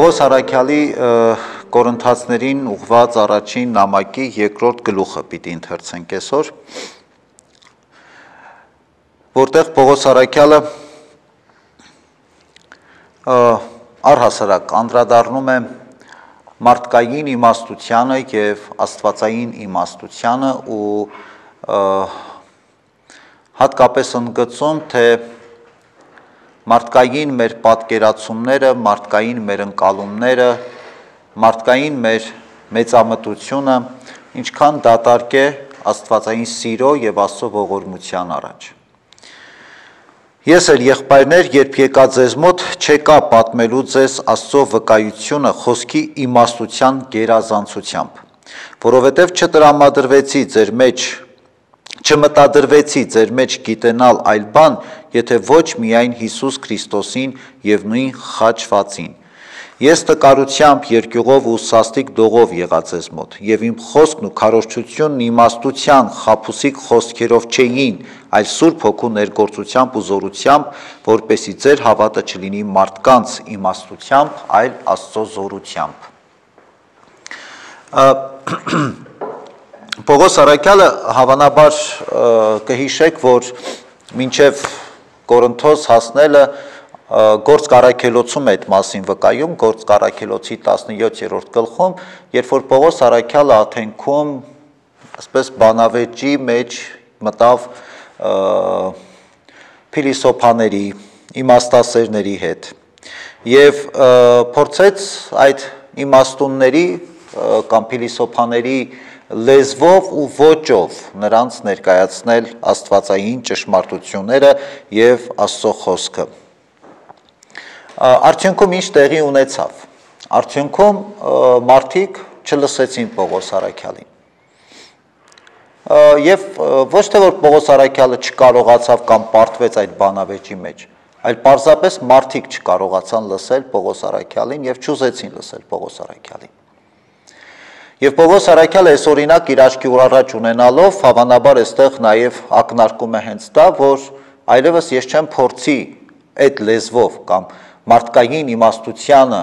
Պողոս Արաքյալի Կորինթացներին ուղված առաջին նամակի երկրորդ գլուխը պիտի ընթերցենք այսօր, որտեղ Պողոս Արաքյալը առհասարակ անդրադառնում է մարդկային իմաստությանը եւ աստվածային իմաստությանը ու հատկապես ընդգծում, թե մարդկային մեր պատկերացումները, մարդկային մեր ընկալումները, մարդկային մեր մեծամտությունը ինչքան դատարկ է աստվածային սիրո եւ Աստծո ողորմության առաջ։ Ես էլ եղբայրներ, երբ եկա ձեզ մոտ, չեկա պատմելու ձեզ Աստծո վկայությունը խոսքի իմաստության գերազանցությամբ, որովհետև չմտադրվեցի ձեր մեջ գիտենալ այլ բան, եթե ոչ միայն Հիսուս Քրիստոսին եւ նույն խաչվածին։ Ես տկարությամբ, երկյուղով ու սաստիկ դողով եղա ձեզ մոտ, եւ իմ խոսքն ու քարոզչությունն իմաստության խաբուսիկ խոսքերով չէին, այլ Սուրբ Հոգու ներգործությամբ ու զորությամբ, որպեսզի ձեր հավատը չլինի մարդկանց իմաստությամբ, այլ Աստծո զորությամբ։ Պողոս Արաքյալը հավանաբար կհիշեք, որ մինչև Կորինթոս հասնելը Գործք Առաքելոցում է այդ մասին վկայում, Գործք Առաքելոցի 17-րդ գլխում, երբ որ Պողոս Արաքյալը Աթենքում այսպես բանավեճի մեջ մտավ փիլիսոփաների, իմաստասերների հետ եւ փորձեց այդ իմաստունների կամ փիլիսոփաների լեզվով ու ոճով նրանց ներկայացնել աստվածային ճշմարտությունները եւ Աստծո խոսքը։ Արդյունքում ինչ տեղի ունեցավ։ Արդյունքում մարդիկ չլսեցին Պողոս Արաքյալին։ Եվ ոչ թե որ Պողոս Արաքյալը չկարողացավ կամ պարտվեց այդ բանավեճի մեջ, այլ պարզապես մարդիկ չկարողացան լսել Պողոս Արաքյալին եւ չուզեցին լսել Պողոս Արաքյալին։ Եվ Պողոս Արաքյալը այս օրինակ իր աչքի առաջ ունենալով, հավանաբար այստեղ նաեւ ակնարկում է հենց դա, որ այլևս ես չեմ փորձի այդ լեզվով կամ մարդկային իմաստությանը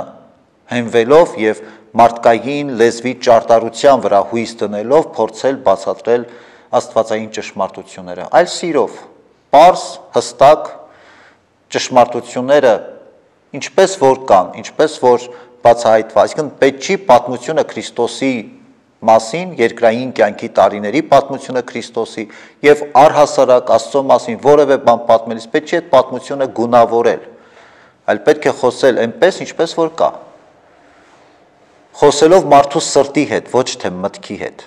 հենվելով եւ մարդկային լեզվի ճարտարության վրա հույս դնելով փորձել բացատրել աստվածային ճշմարտությունները, այլ սիրով, պարզ, հստակ ճշմարտությունները ինչպես որ կան, ինչպես որ բացահայտված, այսինքն պետք չի պատմությունը Քրիստոսի մասին, երկրային կյանքի տարիների պատմությունը Քրիստոսի եւ առհասարակ Աստծո մասին որևէ բան պատմելիս պետք չի այդ պատմությունը գունավորել, այլ պետք է խոսել այնպես, ինչպես որ կա։ Խոսելով մարդու սրտի հետ, ոչ թե մտքի հետ,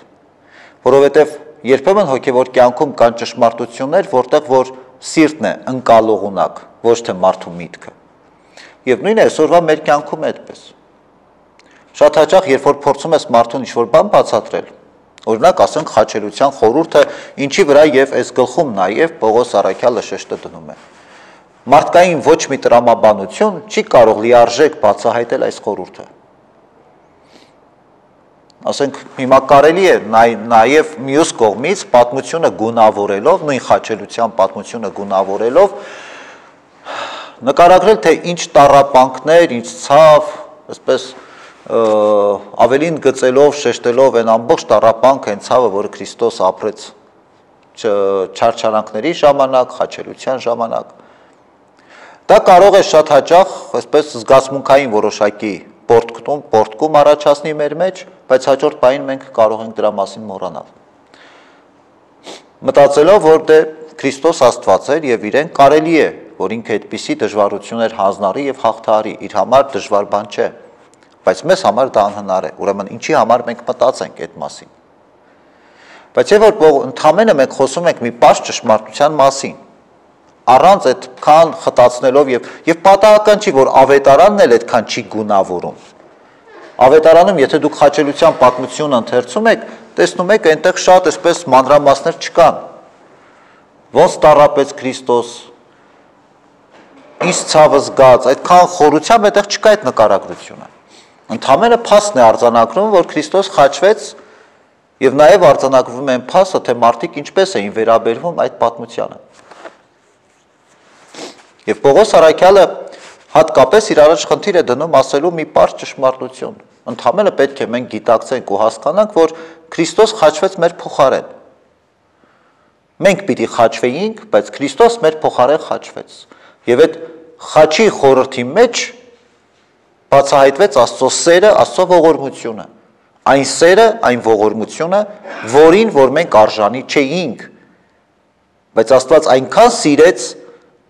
որովհետև երբեմն հոգևոր կյանքում կան ճշմարտություններ, որտեղ որ սիրտն է ընկալող ունակ, ոչ թե մարդու միտքը։ Եվ նույնը այսօրվա մեր կյանքում է այդպես։ Շատ հաճախ, երբ որ փորձում ես մարդուն ինչ-որ բան բացատրել, օրինակ ասենք խաչելության խորհուրդը, ինչի վրա եւ այս գլխում նաեւ Պողոս Արաքյալը շեշտը դնում է։ Մարդկային ոչ մի տրամաբանություն չի կարող լիարժեք բացահայտել այս խորհուրդը։ Ասենք հիմա կարելի է նաեւ մյուս կողմից պատմությունը գունավորելով, նույն խաչելության պատմությունը գունավորելով նկարագրել, թե ինչ տառապանքներ, ինչ ցավ, այսպես ավելին գծելով, շեշտելով այն ամբողջ տառապանքը, այն ցավը, որը Քրիստոս ապրեց չարչարանքների ժամանակ, խաչելության ժամանակ։ Դա կարող է շատ հաճախ, այսպես զգացմունքային որոշակի պոռթկում առաջացնի մեր մեջ, բայց հաջորդ պահին մենք կարող ենք դրա մասին մոռանալ։ Մտածելով, որ դե Քրիստոս Աստված էր եւ իրեն կարելի է, որ ինքը այդպիսի դժվարություններ հանձնարի եւ հաղթահարի, իր համար դժվար բան չէ, բայց մեզ համար դա անհնար է, ուրեմն ինչի համար մենք մտածենք այդ մասին։ Բայց եւ որ ընդհանրապես մենք խոսում ենք մի պարզ ճշմարտության մասին, առանց այդքան խտացնելով եւ պատահական չի, որ ավետարանն էլ այդքան չի գունավորում։ Ավետարանում, եթե դուք խաչելության պատմությունը ընթերցում եք, տեսնում եք այնտեղ շատ այսպես մանրամասներ չկան։ Ոնց տառապեց Քրիստոս, ինչ ցավը զգաց, այդքան խորությամբ այդտեղ չկա այդ նկարագրությունը։ Ընդհանրապես փաստն է արձանագրում, որ Քրիստոս խաչվեց եւ նաեւ արձանագրվում է այն փաստը, թե մարդիկ ինչպես էին վերաբերվում այդ պատմությանը։ Եվ Պողոս Արաքյալը հատկապես իր առաջ խնդիր է դնում ասելու մի պարզ ճշմարտություն։ Ընդհանրապես պետք է մենք գիտակցենք ու հասկանանք, որ Քրիստոս խաչվեց մեր փոխարեն։ Մենք պիտի խաչվեինք, բայց Քրիստոս մեր փոխարեն խաչվեց։ Եվ այդ խաչի խորհրդի մեջ բացահայտվեց Աստծո սերը, Աստծո ողորմությունը։ Այն սերը, այն ողորմությունը, որին որ մենք արժանի չէինք, բայց Աստված այնքան սիրեց,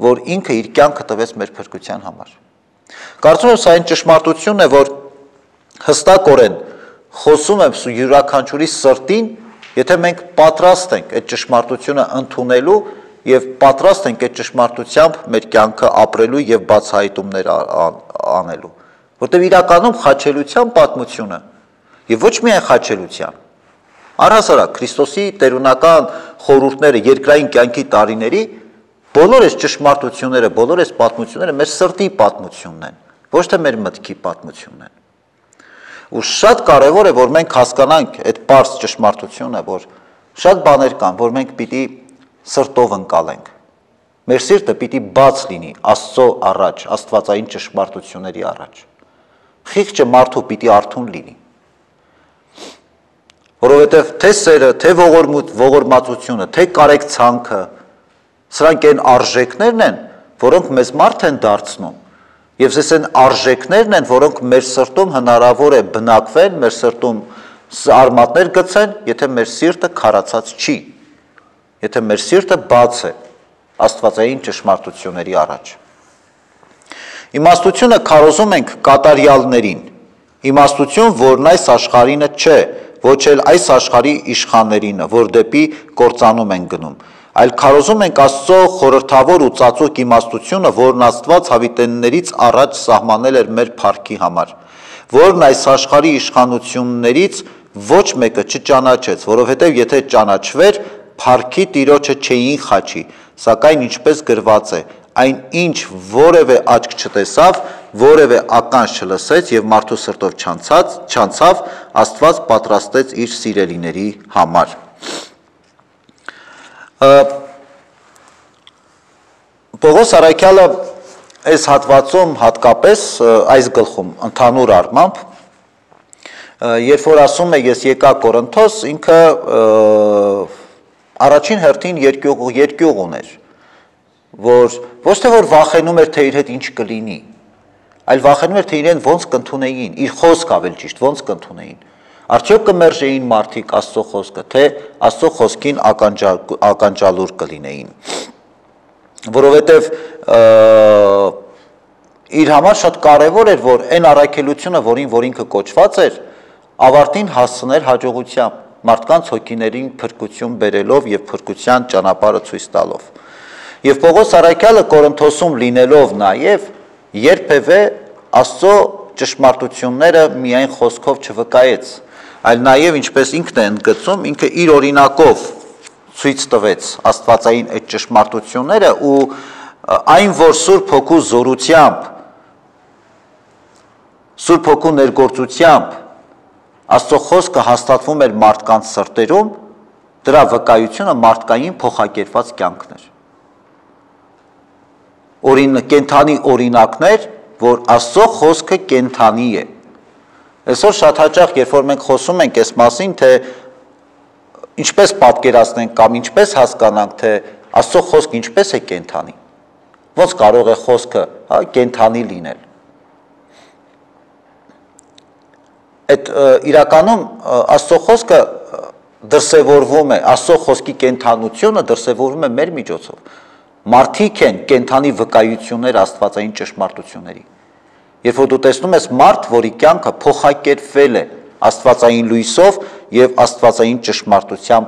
որ ինքը իր կյանքը տվեց մեր փրկության համար։ Կարծում եմ, սա այն ճշմարտությունն է, որ հստակորեն խոսում եմ յուրաքանչյուրի սրտին, եթե մենք պատրաստ ենք այդ ճշմարտությունը ընդունելու եւ պատրաստ ենք այդ ճշմարտությամբ մեր կյանքը ապրելու եւ բացահայտումներ անելու, որտեղ իրականում խաչելության պատմությունը եւ ոչ միայն խաչելության, առհասարակ Քրիստոսի տերունական խորհուրդները երկրային կյանքի տարիների բոլոր այս ճշմարտությունները, բոլոր այս պատմությունները մեր սրտի պատմությունն են, ոչ թե մեր մտքի պատմությունն են։ Ու շատ կարևոր է, որ մենք հասկանանք այդ պարզ ճշմարտությունը, որ շատ բաներ կան, որ մենք պիտի սրտով ընկալենք։ Մեր սիրտը պիտի բաց լինի Աստծո առաջ, աստվածային ճշմարտությունների առաջ։ Խիղճը մարդու պիտի արթուն լինի։ Որովհետև թե սերը, թե ողորմածությունը, թե կարեկցանքը, սրանք այն արժեքներն են, որոնք մեզ մարդ են դարձնում, եւ այս այն արժեքներն են, որոնք մեր սրտում հնարավոր է բնակվեն, մեր սրտում արմատներ գցեն, եթե մեր սիրտը քարացած չի, եթե մեր սիրտը բաց է աստվածային ճշմարտությունների առաջ։ Իմաստությունը քարոզում ենք կատարյալներին, իմաստություն, որն այս աշխարհինը չէ, ոչ էլ այս աշխարհի իշխաններինը, որ դեպի կործանում են գնում, այլ քարոզում ենք Աստծո խորհրդավոր ու ծածուկ իմաստությունը, որն Աստված հավիտեններից առաջ սահմանել էր մեր փառքի համար, որն այս աշխարհի իշխանություններից ոչ մեկը չճանաչեց, որովհետև եթե ճանաչվեր, փառքի Տիրոջը չէին խաչի, սակայն ինչպես գրված է, այն ինչ որևէ աչք չտեսավ, որևէ ականջ չլսեց եւ մարդու սրտով չանցավ, Աստված պատրաստեց իր սիրելիների համար։ Պողոս Արաքյալը այս հատվածում հատկապես այս գլխում ընդհանուր առմամբ, երբ որ ասում է ես եկա Կորինթոս, ինքը առաջին հերթին երկյուղ ուներ, որ ոչ թե որ վախենում էր, թե իր հետ ինչ կլինի, այլ վախենում էր, թե իրեն ոնց կընդունեին, իր խոսքը ավելի ճիշտ, ոնց կընդունեին, արդյոք կմերժեին մարդիկ Աստծո խոսքը, թե Աստծո խոսքին ականջալուր կլինեին, որովհետև իր համար շատ կարևոր էր, որ այն առաքելությունը, որ ինքը կոչված էր, ավարտին հասցներ հաջողությամբ, մարդկանց հոգիներին փրկություն բերելով եւ փրկության ճանապարհը ցույց տալով։ Եվ Պողոս Արաքյալը Կորինթոսում լինելով նաև երբևէ Աստծո ճշմարտությունները միայն խոսքով չվկայեց, այլ նաև ինչպես ինքն է ընդգծում, ինքը իր օրինակով ցույց տվեց աստվածային այդ ճշմարտությունները ու այն, որ Սուրբ Հոգու զորությամբ, Սուրբ Հոգու ներգործությամբ Աստծո խոսքը հաստատվում էր մարդկանց սրտերում, դրա վկայությունը մարդկային փոխակերպված կյանքն էր։ Կենդանի օրինակներ, որ Աստծո խոսքը կենդանի է։ Այսօր շատ հաճախ, երբ որ մենք խոսում ենք այս մասին, թե ինչպես պատկերացնենք կամ ինչպես հասկանանք, թե Աստծո խոսքը ինչպես է կենդանի, ոնց կարող է խոսքը կենդանի լինել։ Այդ իրականում Աստծո խոսքը դրսևորվում է, Աստծո խոսքի կենդանությունը դրսևորվում է մեր միջոցով։ Մարդիկ են կենդանի վկայություններ աստվածային ճշմարտությունների։ Երբ որ դու տեսնում ես մարդ, որի կյանքը փոխակերպվել է աստվածային լույսով եւ աստվածային ճշմարտությամբ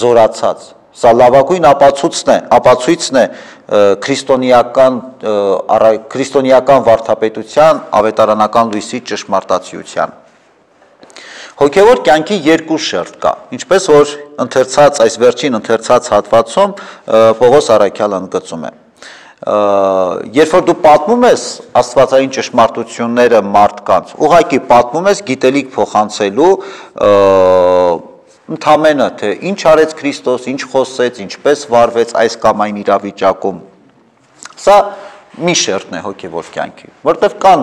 զորացած, սա լավագույն ապացույցն է քրիստոնեական վարդապետության ավետարանական լույսի ճշմարտացիության։ Հոգևոր կյանքի երկու շերտ կա, ինչպես որ այս վերջին ընթերցած հատվածում Պողոս Արաքյալը ընդգծում է։ Երբ որ դու պատմում ես աստվածային ճշմարտությունները մարդկանց, ուղղակի պատմում ես գիտելիք փոխանցելու, ընդամենը թե ինչ արեց Քրիստոս, ինչ խոսեց, ինչպես վարվեց այս կամ այն իրավիճակում։ Սա մի շերտն է հոգևոր կյանքի, որտեղ կան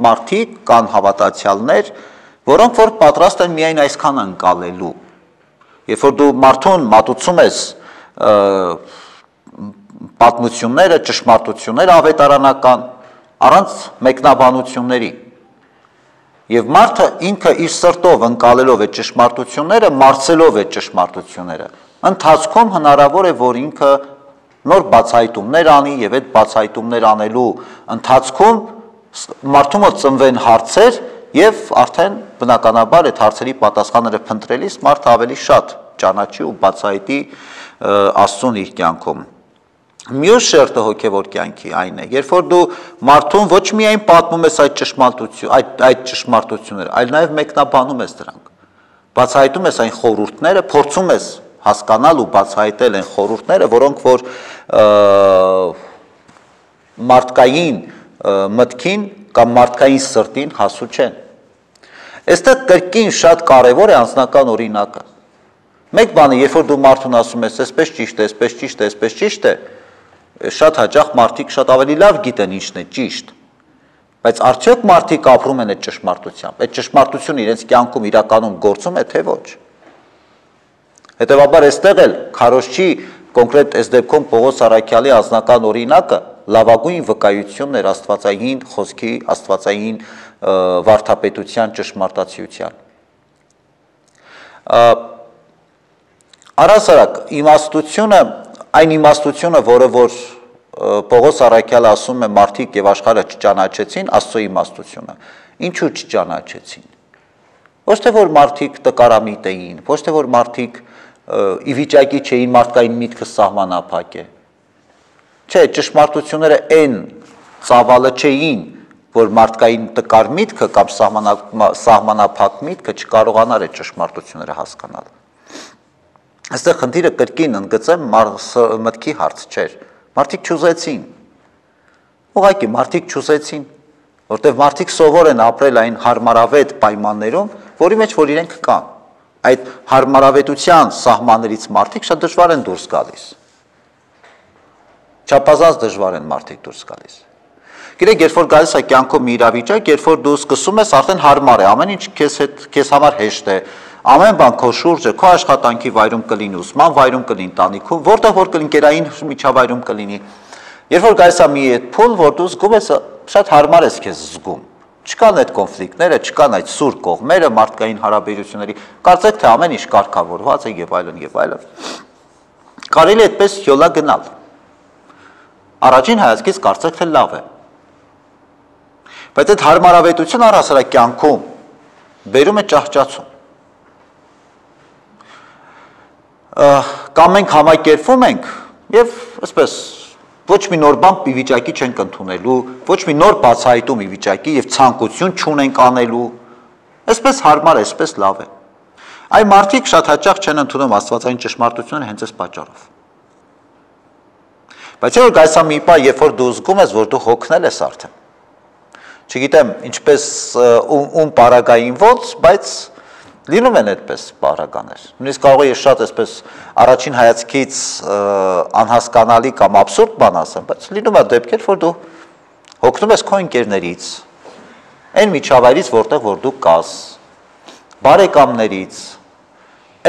մարդիկ, կան հավատացյալներ, որոնք որ պատրաստ են միայն այսքան ընկալելու։ Երբ որ դու մարդուն մատուցում ես պատմությունները, ճշմարտությունները ավետարանական, առանց մեկնաբանությունների, եւ մարդը ինքը իր սրտով ընկալելով է ճշմարտությունները, մարսելով է ճշմարտությունները, ընթացքում հնարավոր է, որ ինքը նոր բացահայտումներ անի եւ այդ բացահայտումներ անելու ընթացքում մարդու մոտ ծնվեն հարցեր եւ արդեն բնականաբար այդ հարցերի պատասխանները փնտրելիս մարդը ավելի շատ ճանաչի ու բացահայտի Աստծուն իր կյանքում։ Մյուս շերտը հոգևոր կյանքի այն է, երբ որ դու մարդուն ոչ միայն պատմում ես այդ ճշմարտությունները, այլ նաեւ մեկնաբանում ես դրանք։ Բացահայտում ես այն խորհուրդները, փորձում ես հասկանալ ու բացահայտել են խորհուրդները, որոնք որ մարդկային մտքին կամ մարդկային սրտին հասու չեն։ Այստեղ կրկին շատ կարևոր է անձնական օրինակը։ Մեկ բանը, երբ որ դու մարդուն ասում ես, այսպես ճիշտ է, այսպես ճիշտ է, այսպես ճիշտ է, շատ հաճախ մարդիկ շատ ավելի լավ գիտեն ինչն է ճիշտ, բայց արդյոք մարդիկ ապրում են այդ ճշմարտությամբ, այդ ճշմարտությունը իրենց կյանքում իրականում գործում է, թե ոչ։ Հետևաբար այստեղ էլ քարոզչի կոնկրետ այս դեպքում Պողոս Առաքյալի անձնական օրինակը լավագույն վկայությունն էր աստվածային խոսքի, աստվածային վարդապետության ճշմարտացիության։ Առհասարակ իմաստությունը, այն իմաստությունը, որը որ Պողոս Առաքյալը ասում է մարդիկ եւ աշխարհը չճանաչեցին, Աստծո իմաստությունը, ինչու չճանաչեցին։ Ոչ թե որ մարդիկ տկարամիտ էին, ոչ թե որ մարդիկ ի վիճակի չէին մարդկային միտքը սահմանափակե։ Չէ, ճշմարտությունները այն ծավալը չէին, որ մարդկային տկար միտքը կամ սահմանափակ միտքը չկարողանար այդ ճշմարտությունները հասկանալ։ Այստեղ խնդիրը կրկին ընդգծեմ մտքի հարց չէր։ Մարդիկ չուզեցին։ Ուղղակի մարդիկ չուզեցին, որտեղ մարդիկ սովոր են ապրել այն հարմարավետ պայմաններում, որի մեջ որ իրենք կան։ Այդ հարմարավետության սահմաններից մարդիկ շատ դժվար են դուրս գալիս։ Չափազանց դժվար են մարդիկ դուրս գալիս։ Գիտեք, երբ որ գալիս է կյանքում մի իրավիճակ, երբ որ դու սկսում ես, արդեն հարմար է, ամեն ինչ քեզ համար հեշտ է, ամեն բան քո շուրջը, քո աշխատանքի վայրում կլինի, ուսման վայրում կլինի, տանիքում, որտեղ որ կլինի, կերային միջավայրում կլինի։ Երբ որ գալիս է մի այդ փուլ, որ դու զգում ես, շատ հարմար ես քեզ զգում։ Չկան այդ կոնֆլիկտները, չկան այդ սուր կողմերը մարդկային հարաբերությունների, կարծեք թե ամեն ինչ կարգավորված է եւ այլն եւ այլն։ Կարելի է այդպես յոլա գնալ։ Առաջին հայացքից կարծեք թե լավ է։ Բայց այդ հարմարավետությունը առհասարակ կյանքում բերում է ճահճացում։ Կամ մենք համակերպվում ենք եւ այսպես ոչ մի նոր բան ի վիճակի չենք ընդունելու, ոչ մի նոր բացահայտում ի վիճակի եւ ցանկություն չունենք անելու։ Այսպես հարմար է, այսպես լավ է։ Այ մարդիկ շատ հաճախ չեն ընդունում աստվածային ճշմարտությունը հենց այս պատճառով։ Բայց երբ գայսա մի բան, երբ որ դու զգում ես, որ դու հոգնել ես արդեն։ Չգիտեմ, ինչպես ում պարագային ոնց, բայց լինում են այդպես պարագաներ։ Նույնիսկ կարող է շատ այսպես առաջին հայացքից անհասկանալի կամ աբսուրդ բան ասեմ, բայց լինում է դեպքեր, որ դու հոգնում ես քո ընկերներից, այն միջավայրից, որտեղ որ դու կաս, բարեկամներից,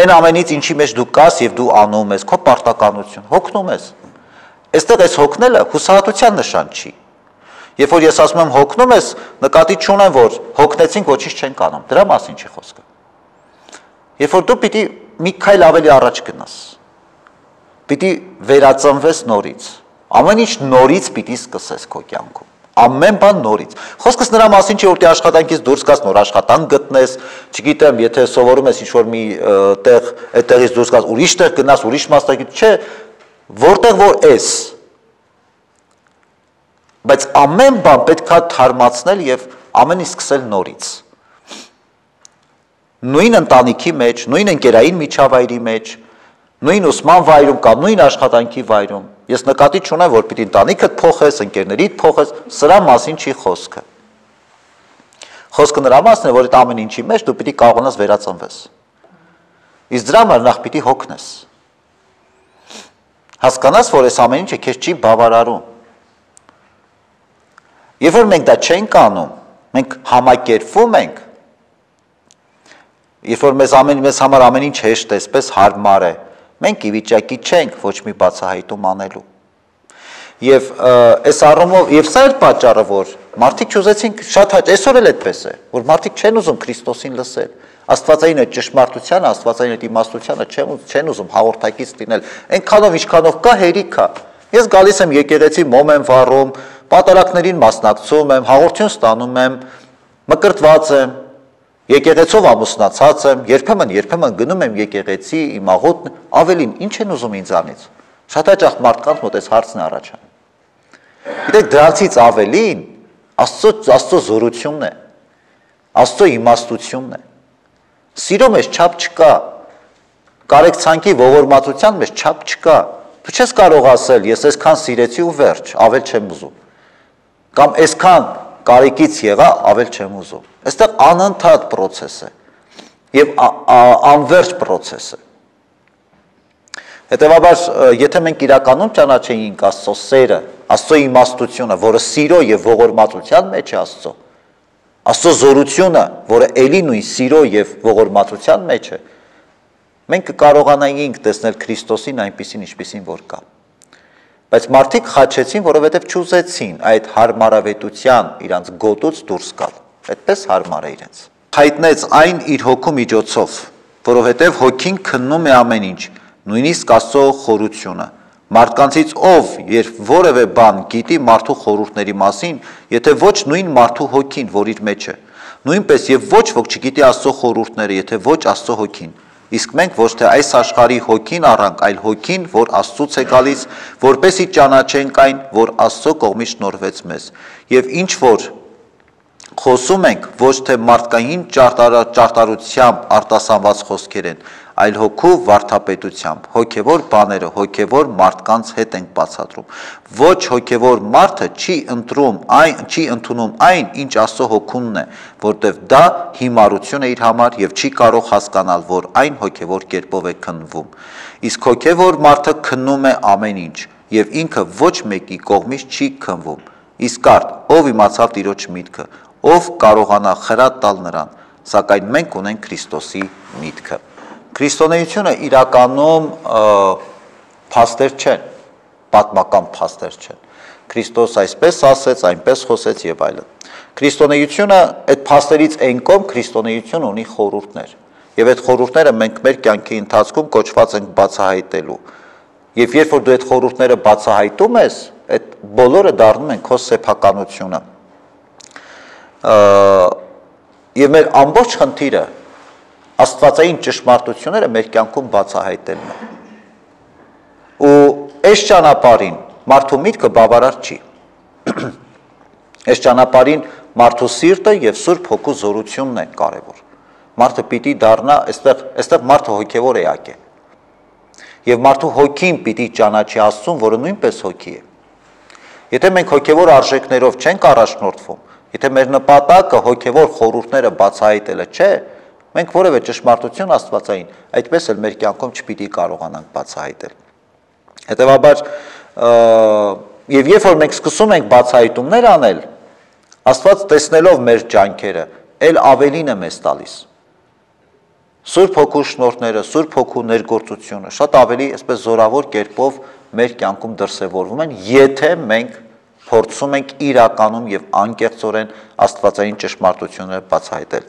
այն ամենից, ինչի մեջ դու կաս եւ դու անում ես, քո պարտականություն, հոգնում ես։ Այստեղ այս հոգնելը հուսահատության նշան չի։ Երբ որ ես ասում եմ հոգնում ես, նկատի չունեմ, որ հոգնեցինք ոչինչ չենք անում։ Դրա մասին չի խոսքը։ Երբ որ դու պիտի մի քայլ ավելի առաջ գնաս, պիտի վերածնվես նորից, ամեն ինչ նորից պիտի սկսես քո կյանքում, ամեն բան նորից։ Խոսքս նրա մասին չի, որ դու աշխատանքից դուրս գաս, նոր աշխատանք գտնես, չգիտեմ, եթե սովորում ես ինչ-որ մի տեղ, այդտեղից դուրս գաս, ուրիշ տեղ գնաս, ուրիշ մասնագիտ, չէ, որտեղ որ ես։ Բայց ամեն բան պետք է թարմացնել եւ ամեն ինչ սկսել նորից։ Նույն ընտանիքի մեջ, նույն ընկերային միջավայրի մեջ, նույն ուսման վայրում կամ նույն աշխատանքի վայրում։ Ես նկատի չունեմ, որ պիտի ընտանիքդ փոխես, ընկերներիդ փոխես, սրա մասին չի խոսքը։ Խոսքը նրա մասն է, որ այդ ամեն ինչի մեջ դու պիտի կարողանաս վերածնվես։ Իսկ դրա համար նախ պիտի հոգնես։ Հասկանաս, որ այս ամեն ինչը քեզ չի բավարարում։ Երբ որ մենք դա չենք անում, մենք համակերպվում ենք, երբ որ մեզ համար ամեն ինչ հեշտ է, այսպես հարմար է, մենք ի վիճակի չենք ոչ մի բացահայտում անելու։ Եվ այս առումով, եւ սա է պատճառը, որ մարդիկ չուզեցին շատ հաճ, այսօր էլ այդպես է, որ մարդիկ չեն ուզում Քրիստոսին լսել, Աստվածային այդ ճշմարտությանը, Աստվածային այդ իմաստությանը չեն ուզում հաղորդակից լինել, այնքանով ինչքանով կա հերիք է։ Ես գալիս եմ եկեղեցի, մոմ եմ վառում, պատարակներին մասնակցում եմ, հաղորդություն ստանում եմ, մկրտված եմ, եկեղեցով ամուսնացած եմ, երբեմն գնում եմ եկեղեցի, իմ աղոթն, ավելին, ինչ են ուզում ինձանից։ Շատ հաճախ մարդկանց մոտ այս հարցն է առաջանում։ Գիտեք, դրանցից ավելին Աստծո զորությունն է, Աստծո իմաստությունն է։ Սիրո մեջ չափ չկա, կարեկցանքի ողորմածության մեջ չափ չկա։ Դու չես կարող ասել, ես այսքան սիրեցի ու վերջ, ավել չեմ ուզում։ Կամ այսքան կարեկից եղա, ավել չեմ ուզում։ Այստեղ անընդհատ process է եւ անverջ process է։ Հետևաբար, եթե մենք իրականում ճանաչեինք Աստծո սերը, Աստծո իմաստությունը, որը սիրո եւ ողորմածության մեջ է Աստծո զորությունը, որը ելի նույն սիրո եւ ողորմածության մեջ է, մենք կկարողանայինք տեսնել Քրիստոսին այնպիսին, ինչպիսին որ կա։ Բայց մարդիկ խաչեցին, որովհետև չուզեցին այդ հարմարավետության իրանց գոտուց դուրս գալ։ Այդպես հարմար է իրենց։ Հայտնեց այն իր հոգու միջոցով, որովհետև հոգին քննում է ամեն ինչ, նույնիսկ Աստծո խորությունը։ Մարդկանցից ով, երբ որևէ բան գիտի մարդու խորհուրդների մասին, եթե ոչ նույն մարդու հոգին, որ իր մեջ է, նույնպես եւ ոչ ոք չգիտի Աստծո խորհուրդները, եթե ոչ Աստծո հոգին։ Իսկ մենք ոչ թե այս աշխարհի հոգին առանք, այլ հոգին, որ Աստծուց է գալիս, որպեսզի ճանաչենք այն, որ Աստծո կողմից շնորհվեց մեզ։ Եվ ինչ որ խոսում ենք, ոչ թե մարդկային ճարտարությամբ արտասանված խոսքեր են, այլ հոգու վարդապետությամբ, հոգևոր բաները, հոգևոր մարդկանց հետ ենք բացատրում։ Ոչ հոգևոր մարդը չի ընդունում այն, ինչ Աստծո հոգունն է, որտեղ դա հիմարություն է իր համար եւ չի կարող հասկանալ, որ այն հոգևոր կերպով է քննվում։ Իսկ հոգևոր մարդը քննում է ամեն ինչ եւ ինքը ոչ մեկի կողմից չի քննվում։ Իսկ արդ, ով իմացավ Տիրոջ միտքը, ով կարողանա խրատ տալ նրան, սակայն մենք ունենք Քրիստոսի միտքը։ Քրիստոնեությունը իրականում փաստեր չեն, պատմական փաստեր չեն։ Քրիստոս այսպես ասեց, այնպես խոսեց եւ այլն։ Քրիստոնեությունը այդ փաստերից այն կողմ քրիստոնեություն ունի խորհուրդներ։ Եվ այդ խորհուրդները մենք մեր կյանքի ընթացքում կոչված ենք բացահայտելու։ Եվ երբ որ դու այդ խորհուրդները բացահայտում ես, այդ բոլորը դառնում են քո սեփականությունը։ Եվ մեր ամբողջ խնդիրը աստվածային ճշմարտությունները մեր կյանքում բացահայտելն է։ Ու այս ճանապարհին մարդու միտքը բավարար չի։ Այս ճանապարհին մարդու սիրտը եւ Սուրբ Հոգու զորությունն է կարևոր։ Մարդը պիտի դառնա, այստեղ մարդը հոգևոր էակ է։ Եվ մարդու հոգին պիտի ճանաչի Աստծուն, որը նույնպես հոգի է։ Եթե մենք հոգևոր արժեքներով չենք առաջնորդվում, եթե մեր նպատակը հոգևոր խորհուրդները բացահայտելը չէ, մենք որևէ ճշմարտություն աստվածային այդպես էլ մեր կյանքում չպիտի կարողանանք բացահայտել։ Հետևաբար, եւ երբ որ մենք սկսում ենք բացահայտումներ անել, Աստված տեսնելով մեր ջանքերը, ել ավելին է մեզ տալիս։ Սուրբ Հոգու շնորհները, Սուրբ Հոգու ներգործությունը շատ ավելի այսպես զորավոր կերպով մեր կյանքում դրսևորվում են, եթե մենք փորձում ենք իրականում եւ անկեղծորեն աստվածային ճշմարտությունները բացահայտել։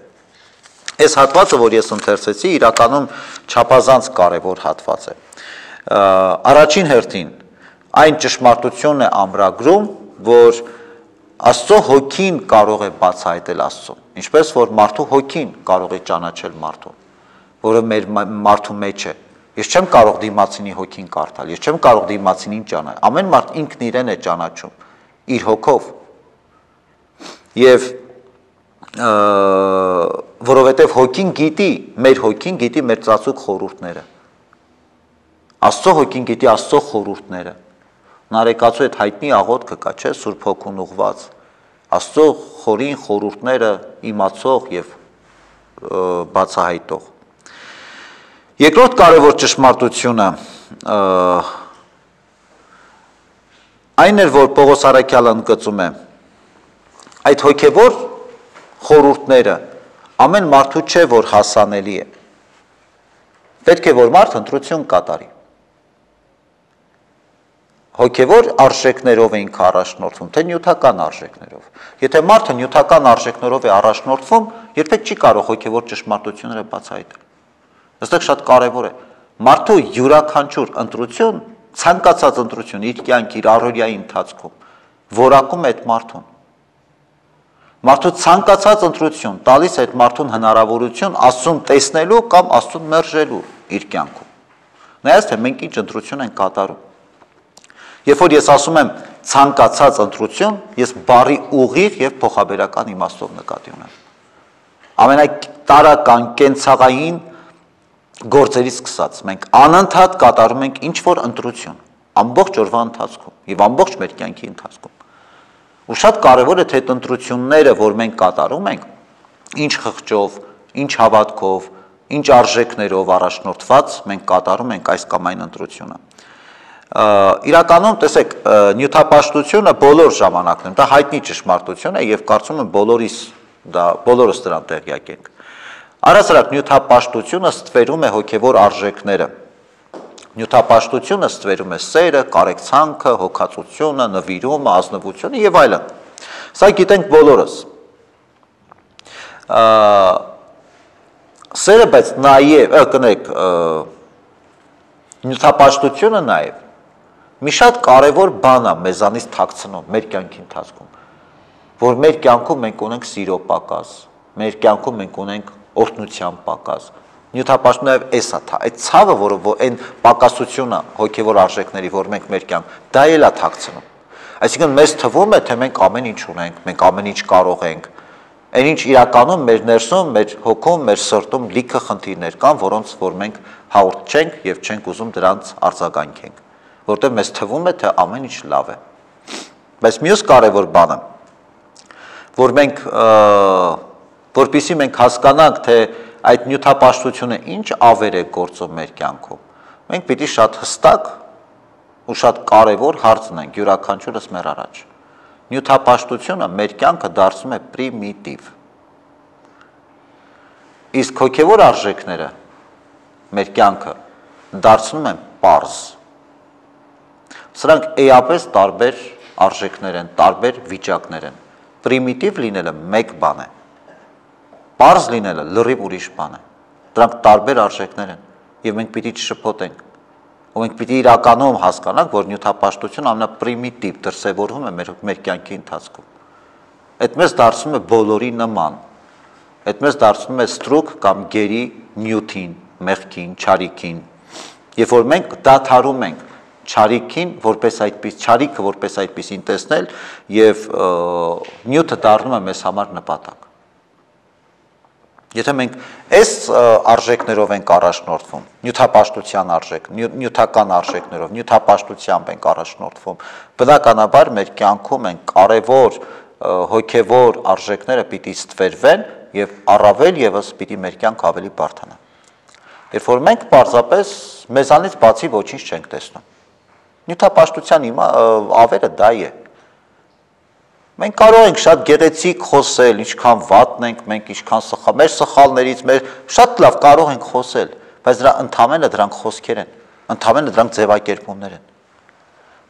Այս հատվածը, որ ես ընթերցեցի, իրականում չափազանց կարևոր հատված է։ Առաջին հերթին այն ճշմարտությունն է ամրագրում, որ Աստծո հոգին կարող է բացահայտել Աստծուն, ինչպես որ մարդու հոգին կարող է ճանաչել մարդուն, որը մեր մարդու մեջ է։ Ես չեմ կարող դիմացինի հոգին կարդալ, ես չեմ կարող դիմացինին ճանաչել։ Ամեն մարդ ինքն իրեն է ճանաչում իր հոգով։ Եվ որովհետև հոգին գիտի մեր ծածուկ խորհուրդները։ Աստծո հոգին գիտի Աստծո խորհուրդները։ Նարեկացու այդ հայտնի աղոթքը կա, չէ՞, Սուրբ Հոգուն ուղված։ Աստծո խորին խորհուրդները իմացող եւ բացահայտող։ Երկրորդ կարևոր ճշմարտությունը այն էր, որ Պողոս Առաքյալը ընդգծում է, այդ հոգևոր խորհուրդները ամեն մարդու չէ, որ հասանելի է։ Պետք է, որ մարդ ընտրություն կատարի։ Հոգևոր արժեքներով էինք առաջնորդվում, թե նյութական արժեքներով։ Եթե մարդը նյութական արժեքներով է առաջնորդվում, երբեք չի կարող հոգևոր ճշմարտությունները բացահայտել։ Այստեղ շատ կարևոր է։ Մարդու յուրաքանչյուր ընտրություն, ցանկացած ընտրություն իր կյանքի, իր առօրյայի ընթացքում որակում է այդ մարդուն։ Մարդու ցանկացած ընտրություն տալիս է այդ մարդուն հնարավորություն Աստծուն տեսնելու կամ Աստծուն մերժելու իր կյանքում։ Նայած թե մենք ինչ ընտրություն ենք կատարում։ Երբ որ ես ասում եմ ցանկացած ընտրություն, ես բառի ուղիղ եւ փոխաբերական իմաստով նկատի ունեմ։ Ամենատարական կենցաղային գործերից սկսած մենք անընդհատ կատարում ենք ինչ որ ընտրություն, ամբողջ օրվա ընթացքում եւ ամբողջ մեր կյանքի ընթացքում։ Ու շատ կարևոր է թե այդ ընտրությունները, որ մենք կատարում ենք, ինչ խղճով, ինչ հավատքով, ինչ արժեքներով առաջնորդված մենք կատարում ենք այս կամ այն ընտրությունը։ Իրականում, տեսեք, նյութապաշտությունը բոլոր ժամանակներում, դա հայտնի ճշմարտություն է եւ կարծում եմ բոլորս դրան տեղյակ ենք։ Առհասարակ նյութապաշտությունը ստվերում է հոգևոր արժեքները։ Նյութապաշտությունը ստվերում է սերը, կարեկցանքը, հոգացությունը, նվիրումը, ազնվությունը եւ այլն։ Սա գիտենք բոլորս։ Սերը, բայց նաեւ, կներեք, նյութապաշտությունը նաեւ մի շատ կարևոր բան է մեզանից թաքցնում մեր կյանքի ընթացքում, որ մեր կյանքում մենք ունենք սիրո պակաս, մեր կյանքում մենք ունենք օրհնության պակաս։ Նյութապաշտությունը էս է, այդ ցավը, որը այն պակասությունը հոգևոր արժեքների, որ մենք մեր կյանք, դա էլ է թաքցնում։ Այսինքն մեզ թվում է, թե մենք ամեն ինչ ունենք, մենք ամեն ինչ կարող ենք։ Այն ինչ իրականում մեր ներսում, մեր հոգում, մեր սրտում լիքը խնդիրներ կան, որոնց որ մենք հաղորդ չենք եւ չենք ուզում դրանց արձագանքենք, որտեղ մեզ թվում է, թե ամեն ինչ լավ է։ Բայց մյուս կարևոր բանը, որ մենք որպեսզի մենք հասկանանք, թե այդ նյութապաշտությունը ինչ ավեր է գործում մեր կյանքում, մենք պիտի շատ հստակ ու շատ կարևոր հարց ունենք յուրաքանչյուրս մեր առաջ։ Նյութապաշտությունը մեր կյանքը դարձնում է պրիմիտիվ։ Իսկ հոգևոր արժեքները մեր կյանքը դարձնում են պարզ։ Սրանք էապես տարբեր արժեքներ են, տարբեր վիճակներ են։ Պրիմիտիվ լինելը մեկ բան է։ Պարզ լինելը լրիվ ուրիշ բան է։ Դրանք տարբեր արժեքներ են եւ մենք պիտի չշփոթենք։ Ու մենք պիտի իրականում հասկանանք, որ նյութապաշտությունը ամենապրիմիտիվ դրսևորվում է մեր կյանքի ընթացքում։ Այդ մեզ դարձնում է բոլորի նման։ Այդ մեզ դարձնում է ստրուկ կամ գերի նյութին, մեղքին, չարիքին։ Երբ որ մենք դադարում ենք չարիքին որպես այդպես չարիքը որպես այդպեսին տեսնել եւ նյութը դառնում է մեզ համար նպատակ։ Եթե մենք այս արժեքներով ենք առաջնորդվում, նյութապաշտության արժեք, նյութական արժեքներով, նյութապաշտությամբ ենք առաջնորդվում, բնականաբար մեր կյանքում են կարևոր հոգևոր արժեքները պիտի ստվերվեն եւ առավել եւս պիտի մեր կյանք ավելի բարդանա։ Երբ որ մենք պարզապես մեզանից բացի ոչինչ չենք տեսնում։ Նյութապաշտության ավերը դա է։ Մենք կարող ենք շատ գեղեցիկ խոսել, ինչքան վատն ենք մենք, ինչքան սխալ, մեր սխալներից, մեր շատ լավ կարող ենք խոսել, բայց ընդամենը դրանք խոսքեր են, ընդամենը դրանք ձևակերպումներ են։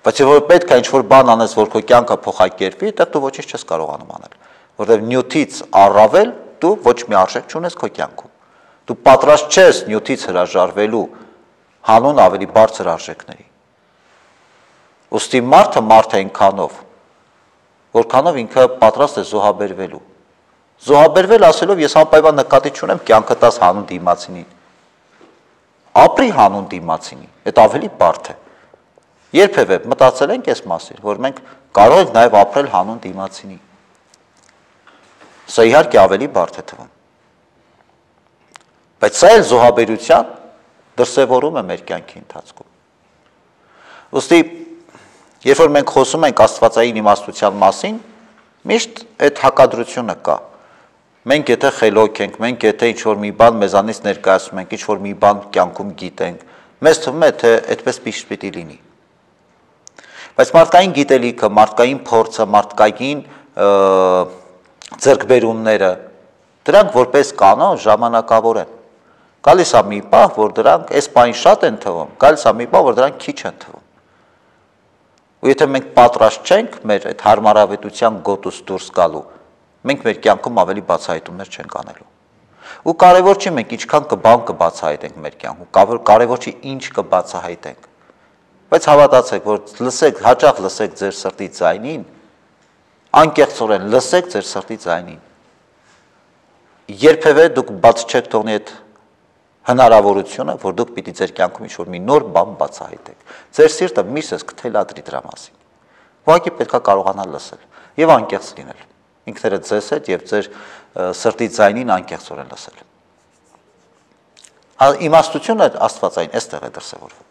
Բայց եթե պետք է ինչ-որ բան անես, որ քո կյանքը փոխակերպի, դա դու ոչինչ չես կարողանում անել, որովհետև նյութից առավել դու ոչ մի արժեք չունես քո կյանքում։ Դու պատրաստ չես նյութից հրաժարվելու հանուն ավելի բարձր արժեքների։ Ուստի մարդը մարդ է այնքանով, որքանով ինքը պատրաստ է զոհաբերվելու։ Զոհաբերվել ասելով ես անպայման նկատի չունեմ կյանքը տաս հանուն դիմացինին։ Ապրի հանուն դիմացինի, այդ ավելի բարդ է։ Երբևէ մտածել ենք այս մասին, որ մենք կարող ենք նաև ապրել հանուն դիմացինի։ Սա իհարկե ավելի բարդ է թվում։ Բայց սա էլ զոհաբերության դրսևորում է մեր կյանքի ընթացքում։ Ուստի երբ որ մենք խոսում ենք աստվածային իմաստության մասին, միշտ այդ հակադրությունը կա։ Մենք եթե խելոք ենք, մենք եթե ինչ-որ մի բան մեզանից ներկայացնում ենք, ինչ-որ մի բան կյանքում գիտենք, մեզ թվում է, թե այդպես պիտի լինի։ Բայց մարդկային գիտելիքը, մարդկային փորձը, մարդկային ձեռքբերումները, դրանք որպես կանոն ժամանակավոր են։ Գալիս է մի պահ, որ դրանք այս բանի շատ են թվում, գալիս է մի պահ, որ դրանք քիչ են թվում։ Ու եթե մենք պատրաստ չենք մեր այդ հարմարավետության գոտուց դուրս գալու, մենք մեր կյանքում ավելի բացահայտումներ չենք անելու։ Ու կարևոր չի մենք ինչքան կբան կբացահայտենք մեր կյանքում, կարևոր չի ինչ կբացահայտենք։ Բայց հավատացեք, որ լսեք, հաճախ լսեք ձեր սրտի ձայնին, անկեղծորեն լսեք ձեր սրտի ձայնին։ Երբևէ դուք բաց չեք թողնի այդ հնարավորությունը, որ դուք պիտի ձեր կյանքում ինչ-որ մի նոր բան բացահայտեք։ Ձեր սիրտը միշտ կթելադրի դրա մասին։ Ուղղակի պետք է կարողանալ լսել եւ անկեղծ լինել։ Ինքներդ ձեզ հետ եւ ձեր սրտի ձայնին անկեղծորեն լսել։ Իմաստությունը Աստվածային այստեղ է դրսևորվում։